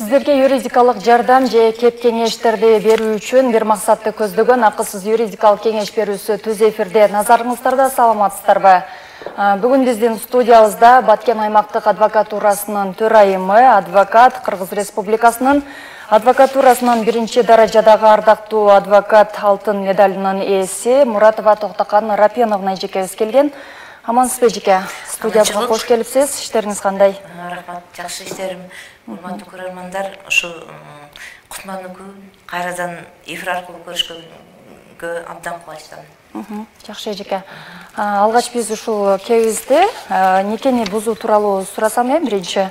Сиздерге юридикалык жардам же кеп кеңештерди берүү үчүн бир максатты көздөгөн акысыз юридикалык кеңеш берүүсү түз эфирде. Назарыңыздарда, саламатсыздарбы? Бүгүн биздин студиябызда Баткен аймактык адвокатурасынын төрайымы, адвокат, Кыргыз Республикасынын адвокатурасынын биринчи даражадагы ардактуу адвокат, алтын медалынын ээси Муратова Токтокан Рапеновна эжекебиз келген. Амансызбы эжеке? Студиябызга кош келипсиз. Иштериңиз кандай? Рахмат, жакшы иштерим. Урматтуу көрөрмандар, ушу кутмандуу күн кайрадан эфир аркылуу көрүшкөнгө абдан кубанычтамын. Жакшы эжеке. Алгач биз ушул кебизди никени бузуу тууралуу сурасам биринчи.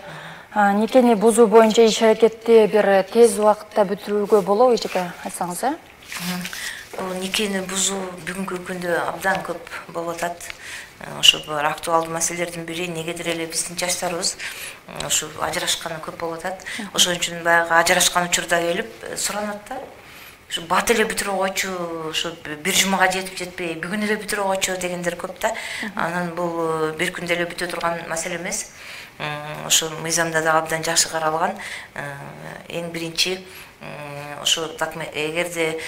Никени бузуу боюнча иш аракетти бир тез убакытта бүтүрүүгө болобу эжеке, айтсаңыз, Бул никени бузуу бүгүнкү күндө абдан көп болуп атат. Ошо бир актуалдуу маселелердин бири, негедир эле биздин жаштарыбыз ушу ажырашканы көп болуп атат. Ошон үчүн баягы ажырашкан учурда келип суранат да. Ушу бат эле бүтүрүп койчу, ушу бир жумага жетип жетпей, бүгүн эле бүтүрүп койчу дегендер көп да. Анан бул бир күндө эле бүтө турган маселе эмес. Ошо мыйзамда да абдан жакшы каралган. Эң биринчи ошо эгерде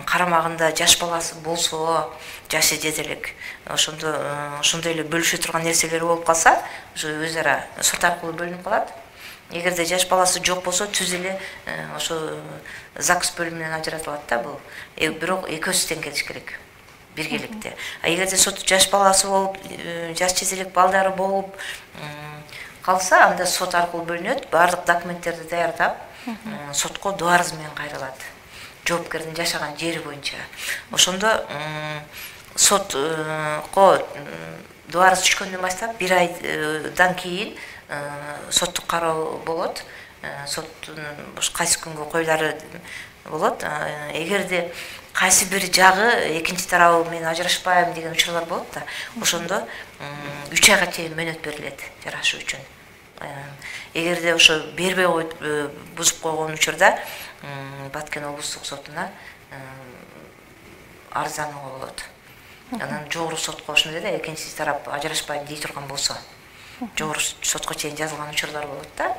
карамагында жаш баласы болсо, жашы жете элек, ошондой эле бөлүшө турган нерселери болуп калса, ошо өз ара сот аркылуу бөлүнүп калат. Эгерде жаш баласы жок болсо, түз эле ошо ЗАГС бөлүмүнөн ажыратылат да бул. Бирок экөөсү тең келиш керек биргеликте. Эгерде сот жаш баласы болуп, жаш жете элек балдары болуп калса, анда сот аркылуу бөлүнөт, баардык документтерди даярдап, сотко доо арыз менен кайрылат. Жоопкердин жашаган жери боюнча. Ошондо сотко доо арыз түшкөндөн баштап бир айдан кийин соттук кароо болот. Соттун кайсы күнгө коюлары болот. Эгерде кайсы бир жагы экинчи тарабы менен ажырашпайм деген учурлар болот да, ошондо 3 айга чейин мөөнөт берилет жарашуу үчүн. Эгерде ошо бербей коюп бузуп койгон учурда Баткен облустук сотуна арызданууга болот. Анан жогору сотко ошондой да, экинчи тарап ажырашпайм дей турган болсо, жогору сотко чейин жазылган учурлар болот да.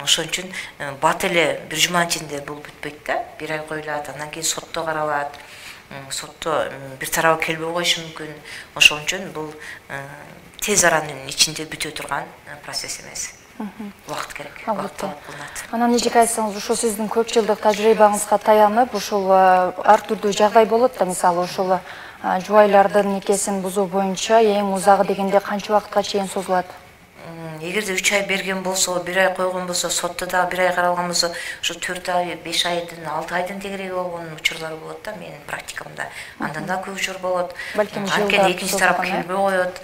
Ошон үчүн бат эле бир жуманын ичинде бул бүтпөйт да. Бир ай коюлат, андан кийин сотто каралат. Сотто бир тарабы келбей коюшу мүмкүн. Ошон үчүн бул тез аранын ичинде бүтө турган процесс эмес. Убакыт керек. Анан эжеке айтсаңыз, ушул сиздин көп жылдык тажрыйбаңызга таянып, ушул ар түрдүү жагдай болот да, мисалы ушул жубайлардын никесин бузуу боюнча эң узагы дегенде канча убакытка чейин созулат? Эгерде 3 ай берген болсо, 1 ай койгон болсо, сотто да 1 ай каралган болсо, ошо 4 ай, 5 айдын, 6 айдын тегереги болгон учурлар болот да менин практикамда. Андан да көп учур болот. Анткени экинчи тарап келбей коет,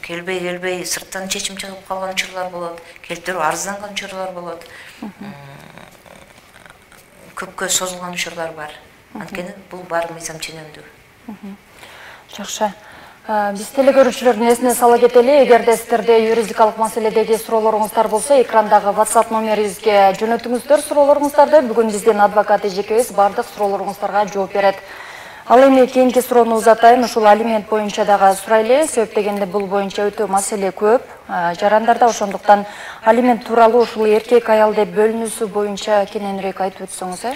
келбей сырттан чечим чыгып калган учурлар болот, келтирип арызданган учурлар болот. Көпкө созулган учурлар бар. Анткени бул баары мыйзам ченемдүү. Жакшы. Биз телекөрүүчүлөрдүн эсине сала кетели, эгерде сиздерде юридикалык маселедеги суроолоруңуздар болсо, экрандагы WhatsApp номерибизге жөнөтүңүздөр суроолоруңуздарды. Бүгүн биздин адвокат эжекебиз бардык суроолоруңуздарга жооп берет. Ал эми кийинки суроону узатайын, ушул алимент боюнча дагы сурайлы, себеп дегенде бул боюнча өтө маселе көп жарандарда, ошондуктан алимент тууралуу ушул эркек аял деп бөлүнүүсү боюнча кененирээк айтып өтсөңүз.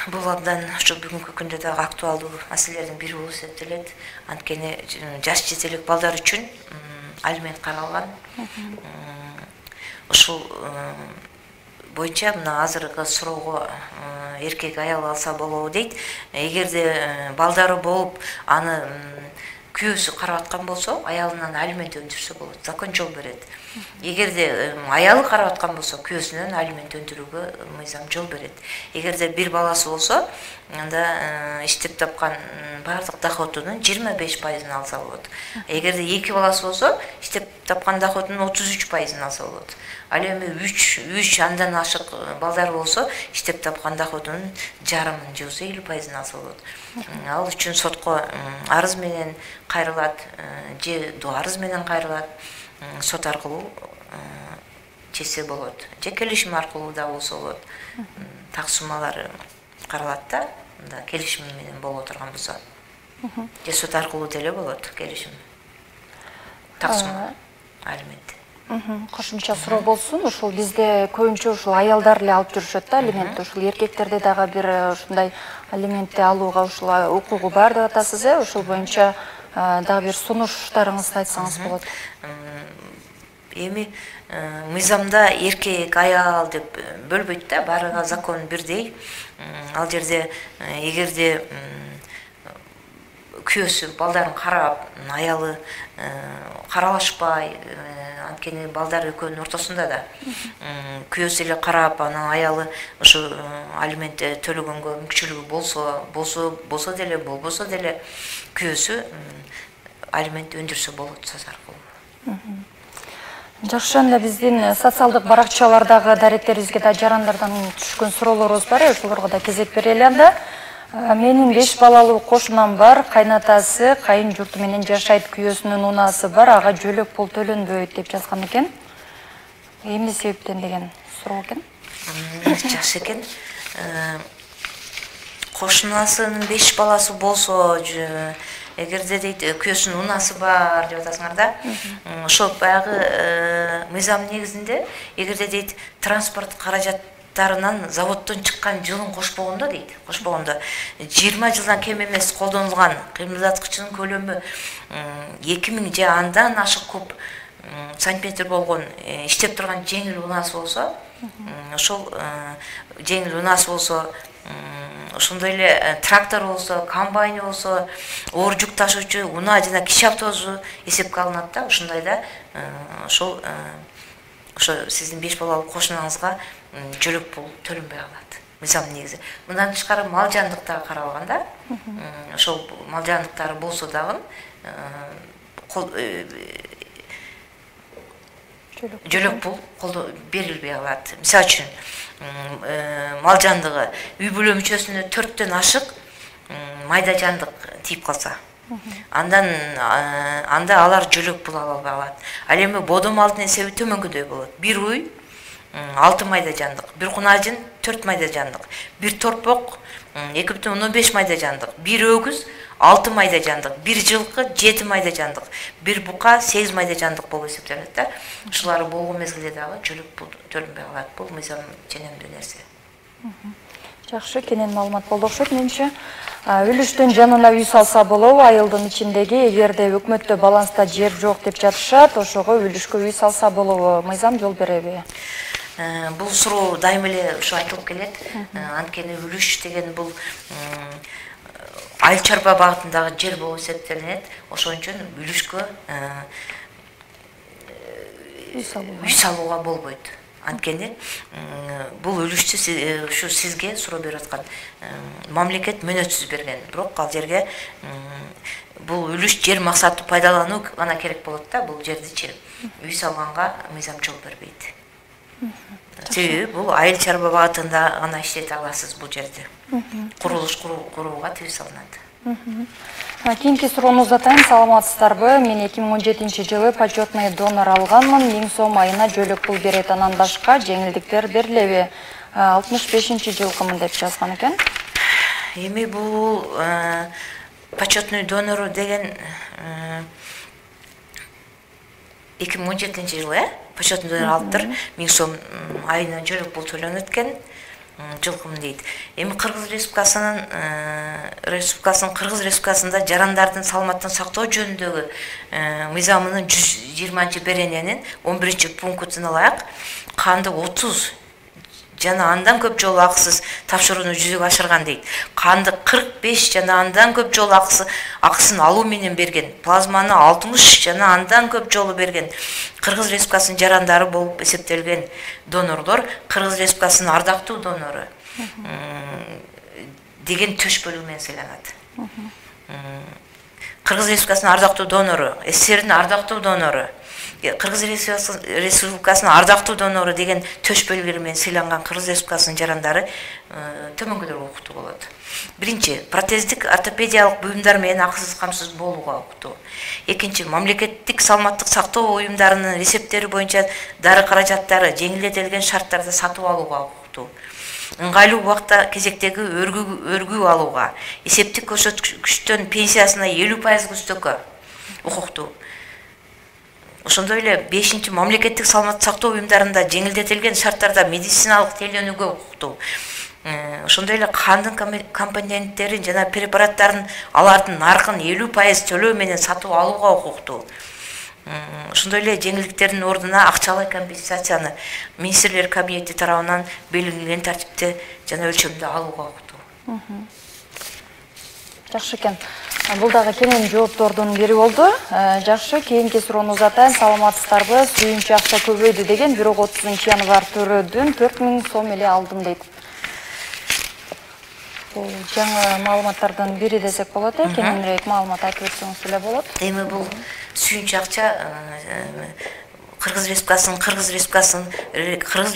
Бул абдан ушу бүгүнкү күндө дагы актуалдуу маселелердин бири болуп эсептелет. Анткени жаш жете элек балдар үчүн алимент каралган. Ушул боюнча мына азыркы суроого эркек аял алса болобу дейт. Эгерде балдары болуп, аны күйөөсү карап аткан болсо, аялынан алимент өндүрсө болот. Закон жол берет. Эгерде аялы карап аткан болсо, күйөөсүнөн алимент өндүрүүгө мыйзам жол берет. Эгерде бир баласы болсо, анда иштеп тапкан баардык доходунун 25% алса болот. Эгерде 2 баласы болсо, иштеп тапкан доходунун 33% алса болот. Ал эми 3 андан ашык балдар болсо, иштеп тапкан доходунун жарымын же 50% алса болот. Ал үчүн сотко арыз менен кайрылат, же доо арыз менен кайрылат. Сот аркылуу чечсе болот. Же келишим аркылуу да болсо болот. Так суммалары каралат да, мында келишим менен боло турган болсо. Же сот аркылуу деле болот келишим. Так сумма алимент. Кошумча суроо болсун, ушул бизде көбүнчө ушул аялдар эле алып жүрүшөт да алиментти. Ушул эркектерде дагы бир ушундай алиментти алууга ушул укугу бар деп атасыз, ушул боюнча дагы бир сунуштарыңызды айтсаңыз болот. Эми мыйзамда эркек, аял деп бөлбөйт да, баарыга закон бирдей. Ал жерде эгерде күйөөсү балдарын карап, аялы каралашпай, анткени балдар экөөнүн ортосунда да күйөөсү эле карап, анан аялы ошо алимент төлөгөнгө мүмкүнчүлүгү болсо деле, болбосо деле күйөөсү алимент өндүрсө болот сөз аркылуу. Жакшы, анда биздин социалдык баракчалардагы даректерибизге да жарандардан түшкөн суроолорубуз бар, ошолорго да кезек берели анда. Менин 5 балалуу кошунам бар, кайнатасы кайын журту менен жашайт, күйөөсүнүн унаасы бар, ага жөлөк пул төлөнбөйт деп жазган экен. Эмне себептен деген суроо экен. Жакшы экен. Кошунасынын 5 баласы болсо, эгерде дейт күйөөсүнүн унаасы бар деп атасыңар да. Ошол баягы мыйзам негизинде эгерде дейт транспорт каражаттарынан заводдон чыккан жылын кошпогондо дейт. 20 жылдан кем эмес колдонулган кыймылдаткычынын көлөмү 2000 же андан ашык куб сантиметр болгон иштеп турган жеңил унаасы болсо, ошол жеңил унаасы болсо, ошондой эле трактор болсо, комбайн болсо, оор жүк ташуучу унаа жана киши автобусу эсепке алынат да. Ушундайда ошо сиздин 5 балалуу кошунаңызга жөлөк пул төлөнбөй калат. Мыйзам негизи. Мындан тышкары мал жандык дагы каралган да. Ошол мал жандыктары болсо дагы жөлөк пул берилбей калат. Мисалы үчүн мал жандыгы үй бүлө мүчөсүнө 4төн ашык майда жандык тийип калса, анда алар жөлөк пул ала албай калат. Ал эми бодо малдын эсеби төмөнгөдөй болот. Бир уй 6 майда жандык, бир кунажын 4 майда жандык, бир торпок 2,5 майда жандык, бир өгүз 6 майда жандык, бир жылкы 7 майда жандык, бир бука 8 майда жандык болуп эсептелет да. Ушулар болгон мезгилде дагы жөлөк пул төлөнбөй калат. Бул мыйзам ченемдүү нерсе. Жакшы, кенен маалымат болду окшойт менимче. Үлүштүн жанына үй салса болобу? Айылдын ичиндеги эгерде өкмөттө баланста жер жок деп жатышат, ошого үлүшкө үй салса болобу? Мыйзам жол береби? Бул суроо дайыма эле ушу айтылып келет. Анткени үлүш деген бул айыл чарба багытындагы жер болуп эсептелинет. Ошон үчүн үлүшкө үй салууга болбойт. Анткени бул үлүштү ушу сизге суроо берип аткан мамлекет мөөнөтсүз берген. Бирок ал жерге бул үлүш жер максаттуу пайдалануу гана керек болот да. Бул жердичи үй салганга мыйзам жол бербейт. Себеби бул айыл чарба багытында гана иштете аласыз бул жерде. Курулуш курууга тыюу салынат. Кийинки сурооңузду атайын, саламатсыздарбы? Мен 2017-жылы почетный донор алганмын. 1000 сом айына жөлөк пул берет, анан башка жеңилдиктер берилеби? 65-жылкымын деп жазган экен. Эми бул почетный донору деген 2017-жылы почетный донор алыптыр. 1000 сом айына жөлөк пул төлөнөт экен. Жылкым дейт. Эми Кыргыз Республикасынын Кыргыз Республикасында жарандардын саламаттыгын сактоо жөнүндөгү мыйзамынын 120-берененин 11-пунктун алайык. Канды 30 жана андан көп жолу акысыз тапшырууну жүзүгө ашырган дейт. Канды 45 жана андан көп жолу акысын алуу менен берген. Плазманы 60 жана андан көп жолу берген. Кыргыз Республикасынын жарандары болуп эсептелген донорлор Кыргыз Республикасынын ардактуу донору деген төшпөлүгү менен сыйланат. Кыргыз Республикасынын ардактуу донору, СССРдин ардактуу донору, Кыргыз Республикасынын ардактуу донору деген төшпөлүгү менен сыйланган Кыргыз Республикасынын жарандары төмөнгөдөргө укуктуу болот. Биринчи, протездик ортопедиялык буюмдар менен акысыз камсыз болууга укуктуу. Экинчи, мамлекеттик саламаттык сактоо уюмдарынын рецепттери боюнча дары каражаттары жеңилдетилген шарттарда сатып алууга укуктуу. Ыңгайлуу убакта кезектеги өргүү алууга, эсептик көрсөткүчтөн пенсиясына 50% үстөккө укуктуу. Ошондой эле 5 мамлекеттик саламаттык сактоо уюмдарында жеңилдетилген шарттарда медициналык тейлөөнүүгө укуктуу. Ошондой эле кандын компоненттерин жана препараттарын алардын наркын 50% төлөө менен сатып алууга укуктуу. Ошондой эле жеңилдиктердин ордуна акчалай компенсацияны министрлер кабинети тарабынан белгиленген тартипте жана өлчөмдө алууга укуктуу. Жакшы экен. Бул дагы кенен жооптордун бири болду. Жакшы, кийинки суроону узатайын. Саламатсыздарбы? Сүйүнчү акча көбөйдү деген бирок 30-январ төрөдүн 4000 сом эле алдым дейт. Бул жаңы маалыматтардан бири десек болот, кененирээк маалымат айтып өтсөңүз эле болот. Эми бул сүйүнчү акча Кыргыз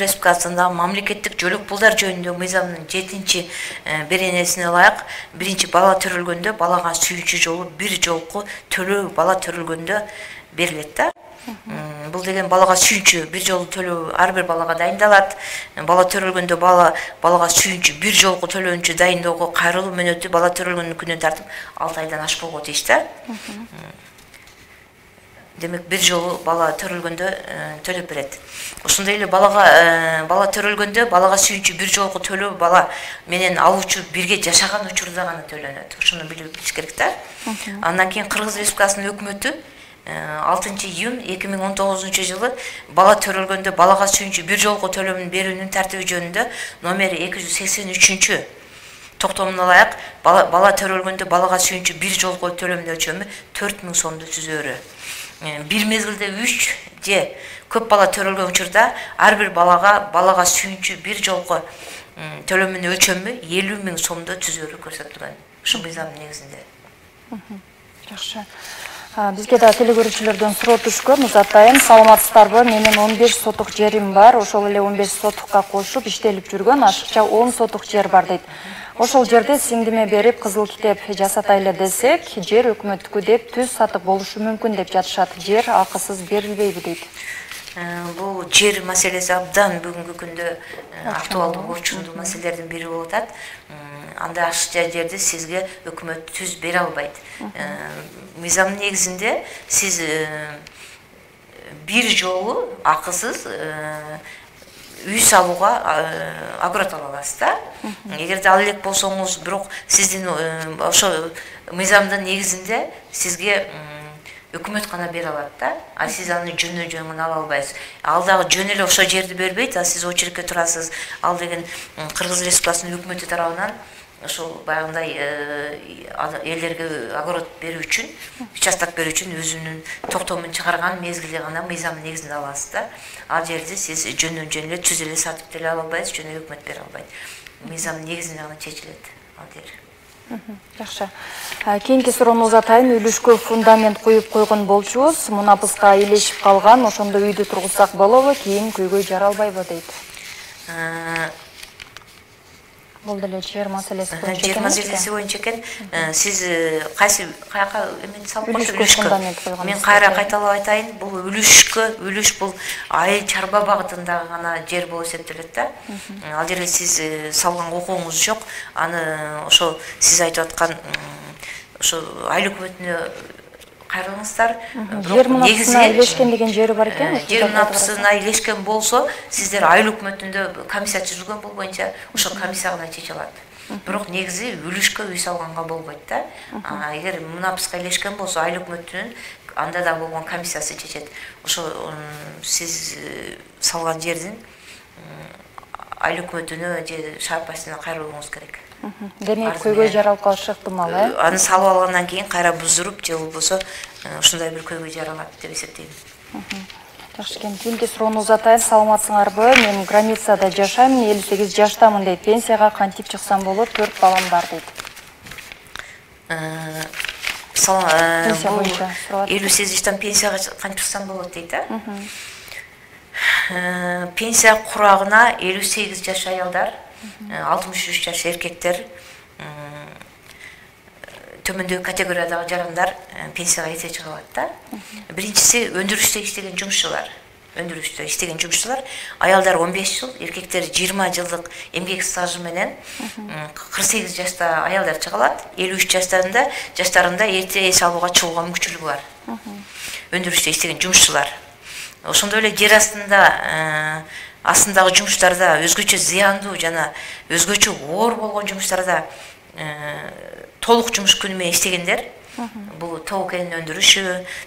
Республикасында мамлекеттик жөлөк пулдар жөнүндө мыйзамдын 7-беренесине ылайык биринчи бала төрөлгөндө балага сүйүнчү жолу бир жолку төлөө бала төрөлгөндө берилет да. Бул деген балага сүйүнчү бир жолу төлөө ар бир балага дайындалат. Бала төрөлгөндө балага сүйүнчү бир жолку төлөөнчү дайындоого кайрылуу мөөнөтү бала төрөлгөн күнүнөн тартып 6 айдан ашпогу тийиш да. Демек бир жолу бала төрөлгөндө төлөп берет. Ошондой эле бала төрөлгөндө балага сүйүнчү бир жолку төлөө бала менен алуучу бирге жашаган учурда гана төлөнөт. Ошону билиш керек да. Андан кийин Кыргыз Республикасынын өкмөтү 6-июнь 2019 жылы бала төрөлгөндө балага сүйүнчү бир жолку төлөмүн берүүнүн тартиби жөнүндө номери 283 токтомуна ылайык бала төрөлгөндө балага сүйүнчү бир жолку төлөмдүн өлчөмү 4000 сомду түзөөрү. Бир мезгилде 3 же көп бала төрөлгөн учурда ар бир балага сүйүнчү бир жолку төлөмүнүн өлчөмү 50.000 сомду түзөөрү көрсөтүлгөн. Ушул мыйзамдын негизинде. Жакшы. Бизге да телекөрүүчүлөрдөн суроо түшкөн. Узатайын. Саламатсыздарбы? Менин 15 сотук жерим бар. Ошол эле 15 сотукка кошуп иштелип жүргөн ашыкча 10 сотук жер бар дейт. Ошол жерде сиңдиме берип кызыл китеп жасатайлы десек, жер өкмөттүкү деп түз сатып болушу мүмкүн деп жатышат. Жер акысыз берилбейби дейт. Бул жер маселеси абдан бүгүнкү күндө актуалдуу орчундуу маселелердин бири болуп атат. Анда ашыкча жерди сизге өкмөт түз бере албайт. Мыйзамдын негизинде сиз бир жолу акысыз үй салууга огород ала аласыз да. Эгерде ал элек болсоңуз, бирок сиздин ошо мыйзамдын негизинде сизге өкмөт гана бере алат да. А сиз аны жөнүнөн жөн ала албайсыз. Ал дагы жөн эле ошо жерди бербейт, а сиз очередке турасыз. Ал деген Кыргыз Республикасынын өкмөтү тарабынан ошол баягындай элдерге огород берүү үчүн, участок берүү үчүн өзүнүн токтомун чыгарган мезгилде гана мыйзамдын негизинде аласыз да. Ал жерди сиз жөнүнөн жөн эле түз эле сатып деле ала албайсыз, жөн эле өкмөт бере албайт. Мыйзамдын негизинде гана чечилет ал жер. Жакшы. Кийинки суроону узатайын. Үлүшкө фундамент куюп койгон болчубуз. Мунапыска илешип калган. Ошондо үйдү тургузсак болобу? Кийин көйгөй жаралбайбы дейт. Бул деле жер маселеси боюнча экен. Жер маселеси боюнча экен. Сиз каяка эмени салып койгонсуз? Мен кайра кайталап айтайын. Бул үлүш бул айыл чарба багытындагы гана жер болуп эсептелет да. Ал жерге сиз салган укугуңуз жок. Аны ошо сиз айтып аткан ошо айыл өкмөтүнө кайрылыңыздар. Жер мунапысына илешкен деген жери бар экен. Жер мунапысына илешкен болсо, сиздер айыл өкмөтүндө комиссия түзүлгөн, бул боюнча ошо комиссия гана чече алат. Бирок негизи үлүшкө үй салганга болбойт да. Эгер мунапыска илешкен болсо, айыл өкмөтүнүн анда да болгон комиссиясы чечет. Ошо сиз салган жердин айыл өкмөтүнө же шаар башчысына кайрылууңуз керек. Демек көйгөй жаралып калышы ыктымал, Аны салып алгандан кийин кайра буздуруп же болбосо ушундай бир көйгөй жаралат деп эсептейм. Жакшы экен. Кийинки суроону узатайын. Саламатсыңарбы? Мен границада жашайм, 58 жаштамын дейт. Пенсияга кантип чыксам болот? 4 балам бар дейт. 58 жаштан пенсияга кантип чыксам болот дейт, Пенсия курагына 58 жаш аялдар, 63 жаш эркектер, төмөндөгү категориядагы жарандар пенсияга эрте чыга алат да. Биринчиси өндүрүштө иштеген жумушчулар. өндүрүштө иштеген жумушчулар аялдар 15 жыл, эркектер 20 жылдык эмгек стажы менен 48 жашта аялдар чыга алат, 53 жаштарында эрте эс алууга чыгууга мүмкүнчүлүгү бар. Өндүрүштө иштеген жумушчулар. Ошондой эле жер астындагы жумуштарда өзгөчө зыяндуу жана өзгөчө оор болгон жумуштарда толук жумуш күнү менен иштегендер, бул тоо кен өндүрүшү,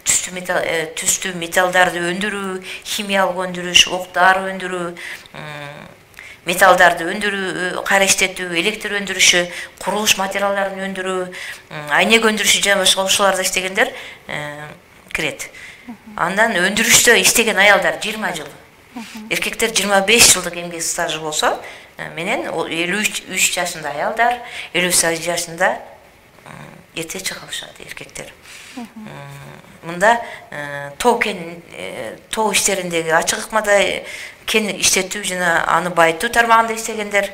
түстүү металлдарды өндүрүү, химиялык өндүрүш, октар өндүрүү, металлдарды өндүрүү, кайра иштетүү, электр өндүрүшү, курулуш материалдарын өндүрүү, айнек өндүрүшү жана башка ушуларда иштегендер кирет. Андан өндүрүштө иштеген аялдар 20 жыл, эркектер 25 жылдык эмгек стажы болсо, менен 53 жашында аялдар, 58 жашында эрте чыга алышат эркектер. Мында тоо иштериндеги ачык ыкмада кен иштетүү жана аны байытуу тармагында иштегендер,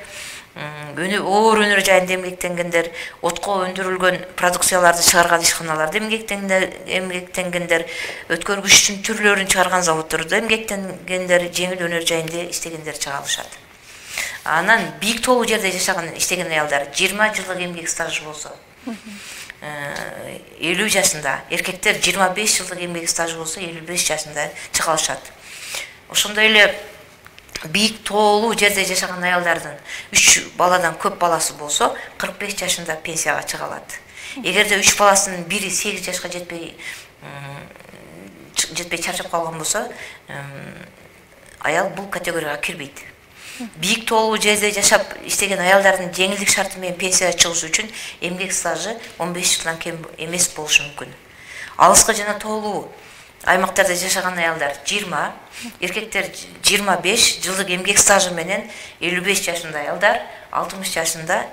оор өнөр жайында эмгектенгендер, отко өндүрүлгөн продукцияларды чыгарган ишканаларда эмгектенгендер, өткөргүчтүн түрлөрүн чыгарган заводдордо эмгектенгендер, жеңил өнөр жайында иштегендер чыга алышат. Анан бийик тоолуу жерде жашаган иштеген аялдар 20 жылдык эмгек стажы болсо 50 жашында, эркектер 25 жылдык эмгек стажы болсо 55 жашында чыга алышат. Ошондой эле бийик тоолуу жерде жашаган аялдардын 3 баладан көп баласы болсо 45 жашында пенсияга чыга алат. Эгерде 3 баласынын бири 8 жашка жетпей чарчап калган болсо, аял бул категорияга кирбейт. Бийик тоолуу жерде жашап иштеген аялдардын жеңилдик шарты менен пенсияга чыгышы үчүн эмгек стажы 15 жылдан кем эмес болушу мүмкүн. Алыскы жана тоолуу аймактарда жашаган аялдар 20, эркектер 25 жылдык эмгек стажы менен 55 жашында аялдар 60 жашында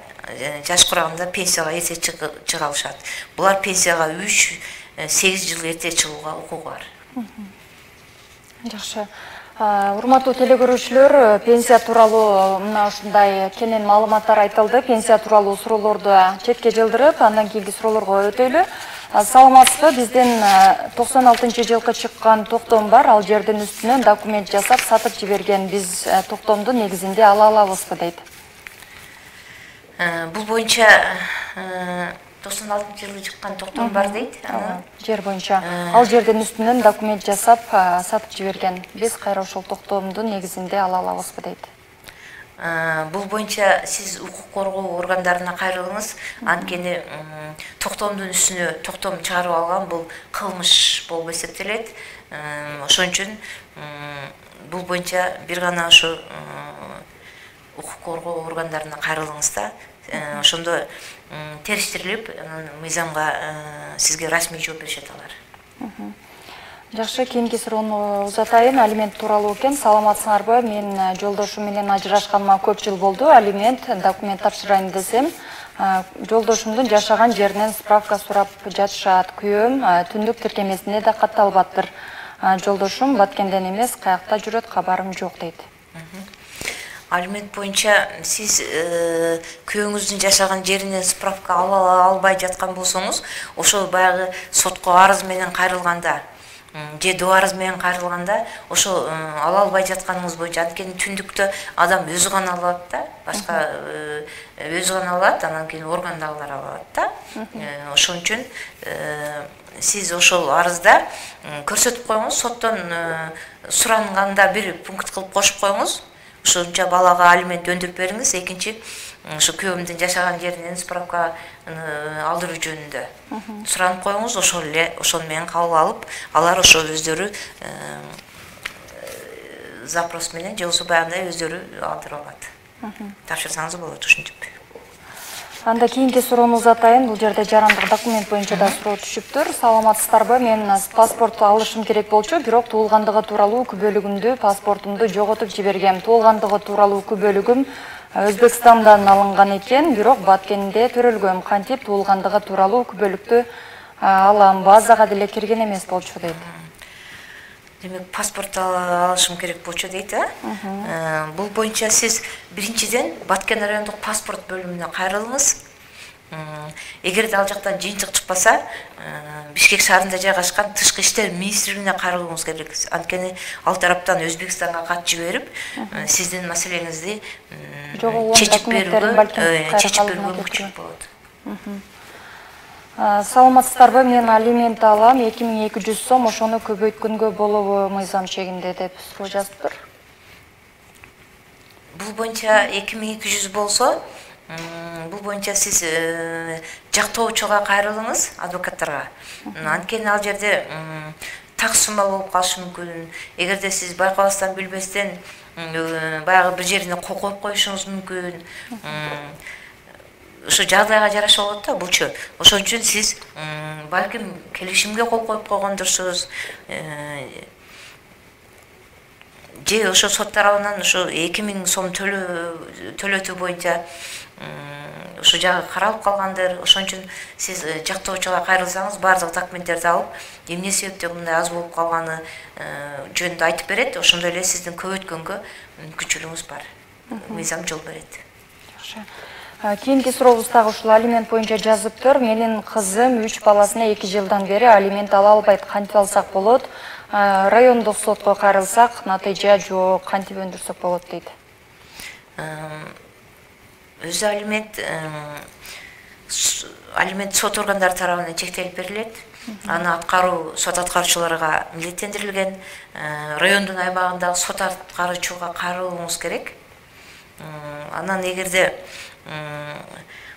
жаш кураганда пенсияга эрте чыга алышат. Булар пенсияга 3-8 жыл эрте чыгууга укугу бар. Жакшы. Урматтуу телекөрүүчүлөр, пенсия тууралуу мына ушундай кенен маалыматтар айтылды. Пенсия тууралуу суроолорду четке жылдырып, андан кийинки суроолорго өтөйлү. Саламатсызбы, бизден 96-жылкы чыккан токтом бар, ал жердин үстүнөн документ жасап сатып жиберген. Биз токтомду негизинде ала алабызбы дейт. Бул боюнча 96-жылы чыккан токтом бар дейт. Жер боюнча ал жердин үстүнөн документ жасап сатып жиберген. Биз кайра ошол токтомду негизинде ала алабызбы дейт. Бул боюнча сиз укук коргоо органдарына кайрылыңыз. Анткени токтомдун үстүнө токтом чыгарып алган бул кылмыш болуп эсептелет. Ошон үчүн бул боюнча бир гана ошо укук коргоо органдарына кайрылыңыз да. Ошондо териштирилип, мыйзамга сизге расмий жооп беришет алар. Жакшы, кийинки суроону узатайын. Алимент тууралуу экен. Саламатсыңарбы? Мен жолдошум менен ажырашканыма көп жыл болду. Алимент документ тапшырайын десем, жолдошумдун жашаган жеринен справка сурап жатышат. Күйөөм түндүк тиркемесине да катталбаптыр. Жолдошум Баткенден эмес, каякта жүрөт, кабарым жок дейт. Алимент боюнча сиз күйөөңүздүн жашаган жеринен справка ала албай жаткан болсоңуз, ошол баягы сотко арыз менен кайрылганда, же доо арыз менен кайрылганда, ошол ала албай жатканыңыз боюнча, анткени түндүктө адам өзү гана алат да, башка өзү гана алат, анан кийин органдагылар алат да. Ошон үчүн сиз ошол арызда көрсөтүп коюңуз, соттон суранганда бир пункт кылып кошуп коюңуз. Ошонча балага алимент өндүрүп бериңиз. Экинчи, ушу күйөөмдүн жашаган жеринен справка алдыруу жөнүндө суранып коюңуз. Ошол менен кабыл алып, алар ошол өздөрү запрос менен же болбосо баягындай өздөрү алдырып алат. Тапшырсаңыз болот, ушинтип. Анда кийинки суроону узатайын. Бул жерде жарандык документ боюнча да суроо түшүптүр. Саламатсыздарбы? Мен паспорт алышым керек болчу, бирок туулгандыгы тууралуу күбөлүгүмдү, паспортумду жоготуп жибергем. Туулгандыгы тууралуу күбөлүгүм Өзбекстандан алынган экен, бирок Баткенде төрөлгөм. Кантип туулгандыгы тууралуу күбөлүктү алам? Базага деле кирген эмес болчу дейт. Демек, паспорт алышым керек болчу дейт, Бул боюнча сиз биринчиден Баткен райондук паспорт бөлүмүнө кайрылыңыз. эгерде ал жактан жыйынтык чыкпаса, Бишкек шаарында жайгашкан Тышкы иштер министрлигине кайрылууңуз керек. Анткени ал тараптан Өзбекстанга кат жиберип, сиздин маселеңизди чечип берүүгө мүмкүнчүлүк болот. Саламатсыздарбы, мен алимент алам 2200 сом, ошону көбөйткөнгө болобу мыйзам чегинде деп суроо жазыптыр. Бул боюнча 2200 болсо, бул боюнча сиз жактоочуга кайрылыңыз, адвокаттарга. Анткени ал жерде так сумма болуп калышы мүмкүн. Эгерде сиз байкабастан билбестен баягы бир жерине кол коюп коюшуңуз мүмкүн. Ошо жагдайга жараша болот да булчу. Ошон үчүн сиз балким келишимге кол коюп койгондурсуз. Же ошо сот тарабынан ошо 2000 сом төлөтүү боюнча ошо жагы каралып калгандыр. Ошон үчүн сиз жактоочуга кайрылсаңыз, баардык документтерди алып, эмне себептен мындай аз болуп калганы жөнүндө айтып берет. Ошондой эле сиздин көбөйткөнгө мүмкүнчүлүгүңүз бар. Мыйзам жол берет. Жакшы. Кийинки сурообуз дагы ушул алимент боюнча жазыптыр. Менин кызым 3 баласына 2 жылдан бери алимент ала албайт. Кантип алсак болот? Райондук сотко кайрылсак, натыйжа жок, кантип өндүрсөк болот дейт. Өзү алимент сот органдары тарабынан чектелип берилет. Аны аткаруу сот аткаруучуларга милдеттендирилген. Райондун аймагындагы сот аткаруучуга кайрылууңуз керек. Анан эгерде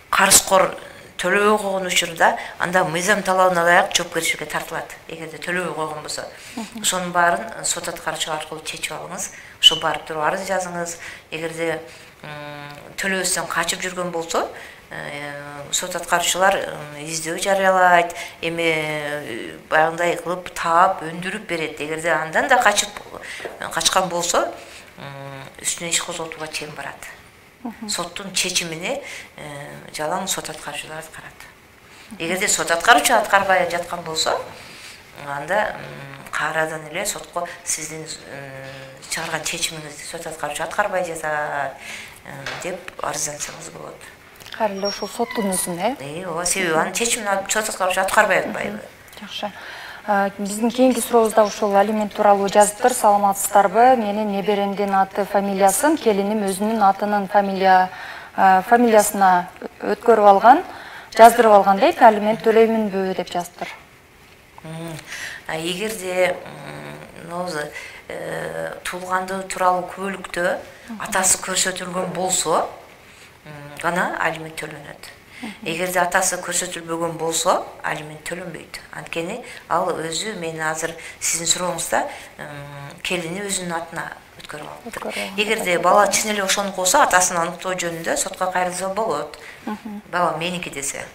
карызкор төлөбөй койгон учурда, анда мыйзам талабына ылайык жоопкерчиликке тартылат. Эгерде төлөбөй койгон болсо, ошонун баарын сот аткаруучу аркылуу чечип алыңыз. Ошо барып туруп арыз жазыңыз. Эгерде төлөбөстөн качып жүргөн болсо, сот аткаруучулар издөө жарыялайт, эми баягындай кылып таап, өндүрүп берет. Эгерде андан да качкан болсо, үстүнө иш козготууга чейин барат. Соттун чечимине жалаң сот аткаруучулар аткарат. Эгерде сот аткаруучу аткарбай жаткан болсо, анда кайрадан эле сотко сиздин чыгарган чечимиңизди сот аткаруучу аткарбай жатат деп арыздансаңыз болот. Кайра эле ушул соттун өзүнө, ооба, себеби анын чечимин сот аткаруучу аткарбай атпайбы. Жакшы. Биздин кийинки сурообузда ушул алимент тууралуу жазыптыр. Саламатсыздарбы? Менин неберемдин аты фамилиясын келиним өзүнүн атынын фамилиясына өткөрүп алган, жаздырып алган дейт. Алимент төлөймүнбү деп жазыптыр. Эгерде туулгандыгы тууралуу күбөлүктө атасы көрсөтүлгөн болсо, гана алимент төлөнөт. Эгерде атасы көрсөтүлбөгөн болсо, алимент төлөнбөйт. Анткени ал өзү, мен азыр сиздин сурооңузда келини өзүнүн атына өткөрүп алыптыр. Эгерде бала чын эле ошонуку болсо, атасын аныктоо жөнүндө сотко кайрылса болот. Бала меники десе.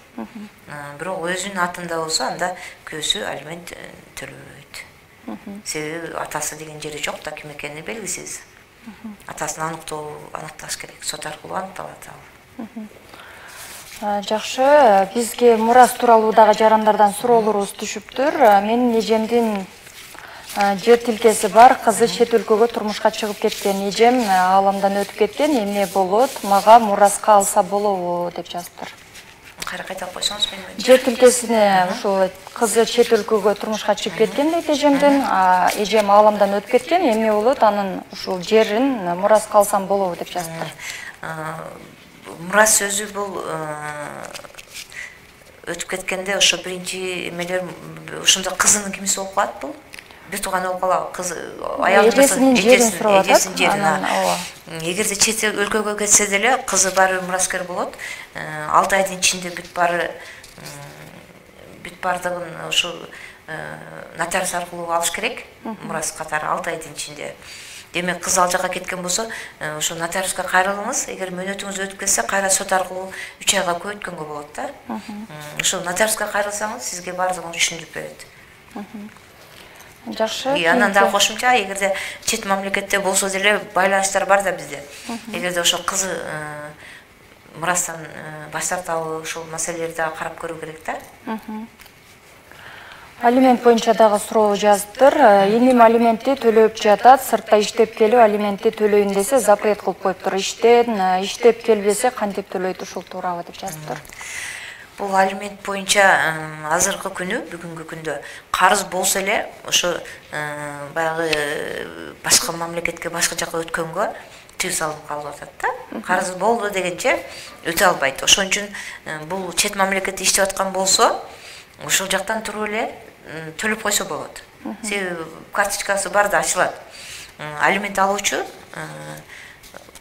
Бирок өзүнүн атында болсо, анда күйөөсү алимент төлөбөйт. Себеби атасы деген жери жок да, ким экени белгисиз. Атасын аныкташ керек, сот аркылуу аныкталат ал. Жакшы, бизге мурас тууралуу дагы жарандардан суроолорубуз түшүптүр. Менин эжемдин жер тилкеси бар, кызы чет өлкөгө турмушка чыгып кеткен. Эжем ааламдан өтүп кеткен, эмне болот? Мага мураска алса болобу деп жазыптыр. Кайра койсоңуз менин. Жер тилкесине ушул кызы чет өлкөгө турмушка чыгып кеткен дейт эжемдин. Эжем ааламдан өтүп кеткен, эмне болот? Анын ушул жерин мураска алсам болобу деп жазыптыр. Мурас сөзү бул өтүп кеткенде ошо биринчи эмелер ошондо кызынын кимиси болуп калат бул. Бир тууган болуп калат, кыз эжесинин жерин сурап атат. Эгерде чет өлкөгө кетсе деле кызы баары мураскер болот. 6 айдын ичинде бүт баардыгын ошо нотариус аркылуу алыш керек. Мурас катары 6 айдын ичинде. Демек, кыз ал жака кеткен болсо, ошо нотариуска кайрылыңыз. Эгер мөөнөтүңүз өтүп кетсе, кайра сот аркылуу 3 айга көбөйткөнгө болот да. Ошо нотариуска кайрылсаңыз, сизге баардыгын түшүндүрүп берет. Жакшы. Анан да кошумча, эгерде чет мамлекетте болсо деле байланыштар бар да бизде. Эгерде ошо кызы мурастан баш тартабы, ошол маселелерди карап көрүү керек да. Алимент боюнча дагы суроо жазыптыр. Эним алиментти төлөп жатат, сыртта иштеп келип алиментти төлөйүн десе запрет кылып коюптур. Иштеп келбесе кантип төлөйт ушул туурабы деп жазыптыр. Бул алимент боюнча азыркы күнү, бүгүнкү күндө карыз болсо эле ошо баягы башка мамлекетке, башка жака өткөнгө тыюу салынып калып атат да. Карыз болду дегенче өтө албайт. Ошон үчүн бул чет мамлекетте иштеп аткан болсо, ошол жактан туруп эле төлөп койсо болот. Себеби карточкасы бар да ачылат. Алимент алуучу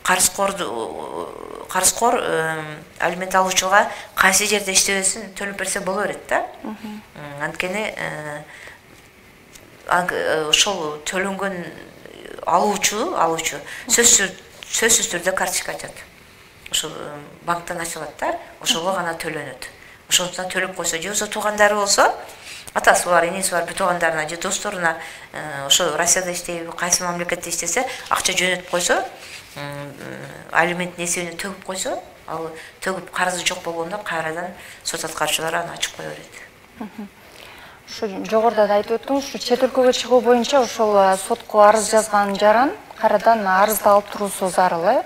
карызкор алимент алуучуга кайсы жерде иштебесин төлөп берсе боло берет да. Анткени ошол төлөнгөн алуучу сөзсүз түрдө карточка ачат. Ошол банктан ачылат да, ошого гана төлөнөт. Ошондон төлөп койсо, же болбосо туугандары болсо, атасы бар, энеси бар, туугандарына же досторуна ошо Россияда иштейби, кайсы мамлекетте иштесе, акча жөнөтүп койсо, алименттин эсебине төгүп койсо, ал төгүп карызы жок болгондо кайрадан сот аткаруучулар аны ачып кое берет. Ушу жогоруда да айтып өттүңүз, ушу чет өлкөгө чыгуу боюнча ошол сотко арыз жазган жаран кайрадан арызды алып туруусу зарыл, э?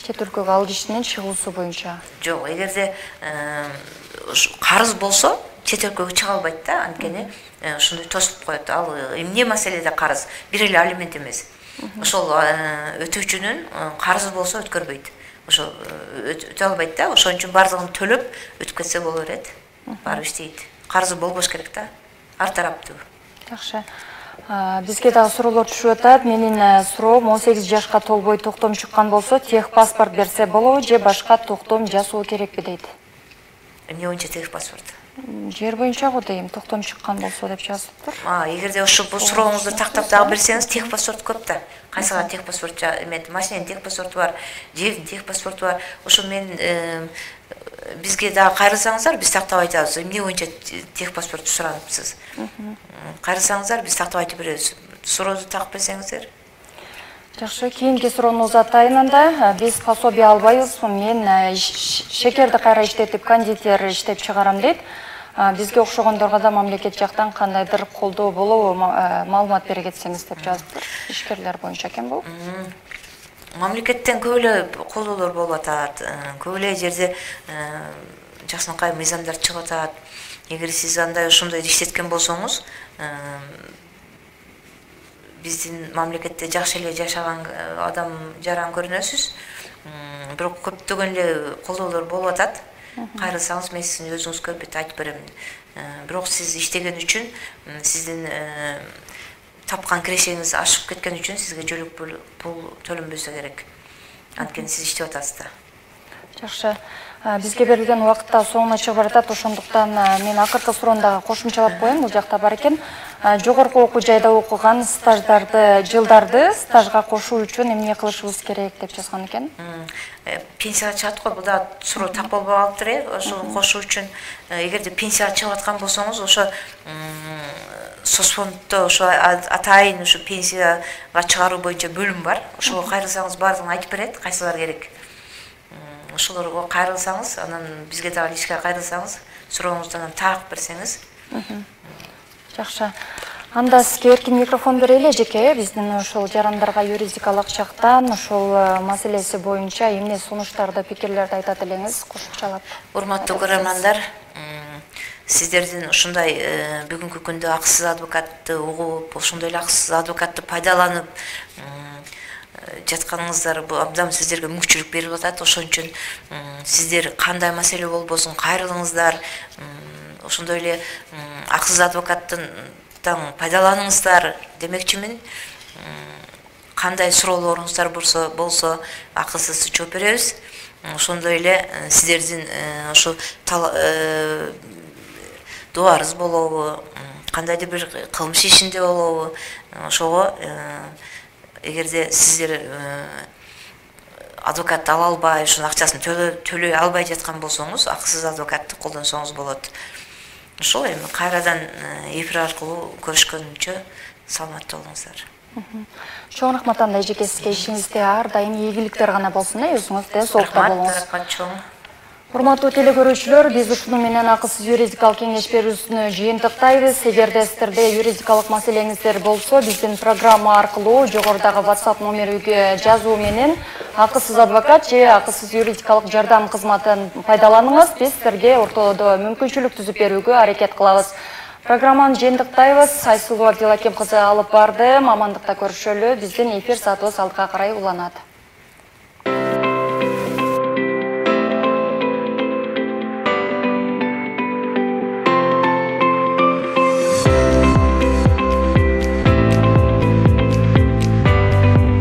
Чет өлкөгө ал кишинин чыгуусу боюнча. Жок, эгерде карыз болсо, чет өлкөгө чыга албайт да, анткени ошондой тосуп коет. Ал эмне маселеде карыз? Бир эле алимент эмес. Ошол өтүүчүнүн карызы болсо өткөрбөйт. Ошол өтө албайт да, ошон үчүн бардыгын төлөп өтүп кетсе боло берет. Барып иштейт. Карызы болбош керек да, ар тараптуу. Жакшы. Бизге дагы суроолор түшүп атат. Менин суроом 18 жашка толбой токтом чыккан болсо, тех паспорт берсе болобу же башка токтом жасоо керекпи дейт. Эмне боюнча тех паспорт? Жер боюнча го дейм, токтом чыккан болсо деп жазылыптыр. Эгерде ошол бул сурооңузду тактап дагы берсеңиз, тех паспорт көп да. Кайсыга тех паспорт эмет, машинанын тех паспорту бар, жердин тех паспорту бар. Ошо мен бизге дагы кайрылсаңыздар, биз тактап айтабыз. Эмне боюнча тех паспортту сураныпсыз? Кайрылсаңыздар, биз тактап айтып беребиз. Сурооду такып берсеңиздер. Жакшы, кийинки суроону атайын анда. Биз пособие албайбыз. Мен шекерди кайра иштетип, кондитер иштеп чыгарам дейт. Бизге окшогондорго да мамлекет жактан кандайдыр колдоо болобу, маалымат бере кетсеңиз деп жазыптыр. Ишкерлер боюнча экен бул. Мамлекеттен көп эле колдоолор болуп атат. Көп эле жерде жакшынакай мыйзамдар чыгып атат. Эгер сиз андай ошондой иштеткен болсоңуз, биздин мамлекетте жакшы эле жашаган адам жаран көрүнөсүз. Бирок көптөгөн эле колдоолор болуп атат. Кайрылсаңыз, мен сиздин өзүңүзгө айтып берем. Бирок сиз иштеген үчүн, сиздин тапкан кирешеңиз ашып кеткен үчүн сизге жөлөк пул төлөнбөсө керек. Анткени сиз иштеп атасыз да. Жакшы. Бизге берилген убакытта соңуна чыгып баратат, ошондуктан мен акыркы суроону дагы кошумчалап коеюн. Бул жакта бар экен. Жогорку окуу жайда окуган жылдарды стажга кошуу үчүн эмне кылышыбыз керек деп жазган экен. Пенсияга чыгат го, бул да суроо так болбой калыптыр. Ошо кошуу үчүн эгерде пенсияга чыгып аткан болсоңуз, ошо соцфонддо ошо атайын ошо пенсияга чыгаруу боюнча бөлүм бар. Ошого кайрылсаңыз бардыгын айтып берет, кайсылар керек. Ошолорго кайрылсаңыз, анан бизге дагы ишке кайрылсаңыз, сурооңузду анан так берсеңиз. Жакшы. Анда сизге эркин микрофон берели жеке, биздин ошол жарандарга юридикалык жактан ошол маселеси боюнча эмне сунуштарды, пикирлерди айтат элеңиз, кошумчалап. Урматтуу көрөрмандар, сиздердин ушундай бүгүнкү күндө акысыз адвокатты угуп, ошондой эле акысыз адвокатты пайдаланып жатканыңыздар бул абдан сиздерге мүмкүнчүлүк берип атат. Ошон үчүн сиздер кандай маселе болбосун кайрылыңыздар. Ошондой эле акысыз адвокаттан пайдаланыңыздар демекчимин. Кандай суроолоруңуздар болсо акысыз жооп беребиз. Ошондой эле сиздердин ошо дуарыз болобу, кандайдыр бир кылмыш ишинде болобу, ошого эгерде сиздер адвокат ала албай, ошонун акчасын төлөй албай жаткан болсоңуз, акысыз адвокатты колдонсоңуз болот. Ошол эми кайрадан эфир аркылуу көрүшкөнүнчө саламатта болуңуздар. Чоң рахмат анда эжеке, сизге ишиңизде ар дайым ийгиликтер гана болсун, өзүңүз денсаулыкта болуңуз. Рахмат, чоң. Урматтуу телекөрүүчүлөр, биз ушуну менен акысыз юридикалык кеңеш берүүсүнү жыйынтыктайбыз. Эгерде сиздерде юридикалык маселеңиздер болсо, биздин программа аркылуу жогорудагы WhatsApp номериге жазуу менен акысыз адвокат же акысыз юридикалык жардам кызматын пайдаланыңыз. Биз сиздерге ортодо мүмкүнчүлүк түзүп берүүгө аракет кылабыз. Программаны жыйынтыктайбыз. Айсулуу Абдилаким кызы алып барды. Амандыкта көрүшөлү. Биздин эфир саатыбыз алдыга карай уланат.